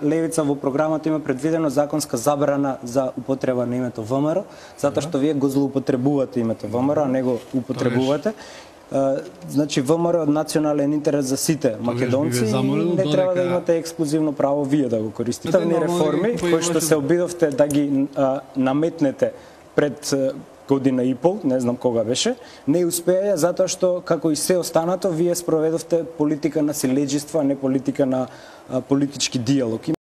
Левица во програмата има предвидено законска забрана за употреба на името ВМРО, затоа што вие го злоупотребувате името ВМРО, а не го употребувате. Значи ВМРО од национален интерес за сите македонци и не треба да имате ексклузивно право вие да го користите. Ставни реформи кои што се обидовте да ги наметнете пред година и пол, не знам кога беше, не успеа затоа што, како и се останато, вие спроведовте политика на силеџество, а не политика на политички диалог.